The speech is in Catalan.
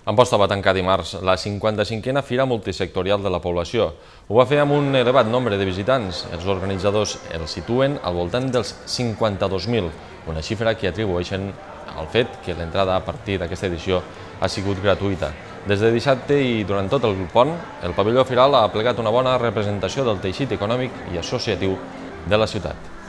Amposta va tancar dimarts la 55a Fira Multisectorial de la Població. Ho va fer amb un elevat nombre de visitants. Els organitzadors el situen al voltant dels 52.000, una xifra que atribueixen al fet que l'entrada a partir d'aquesta edició ha sigut gratuïta. Des de dissabte i durant tot el pont, el pavelló firal ha plegat una bona representació del teixit econòmic i associatiu de la ciutat.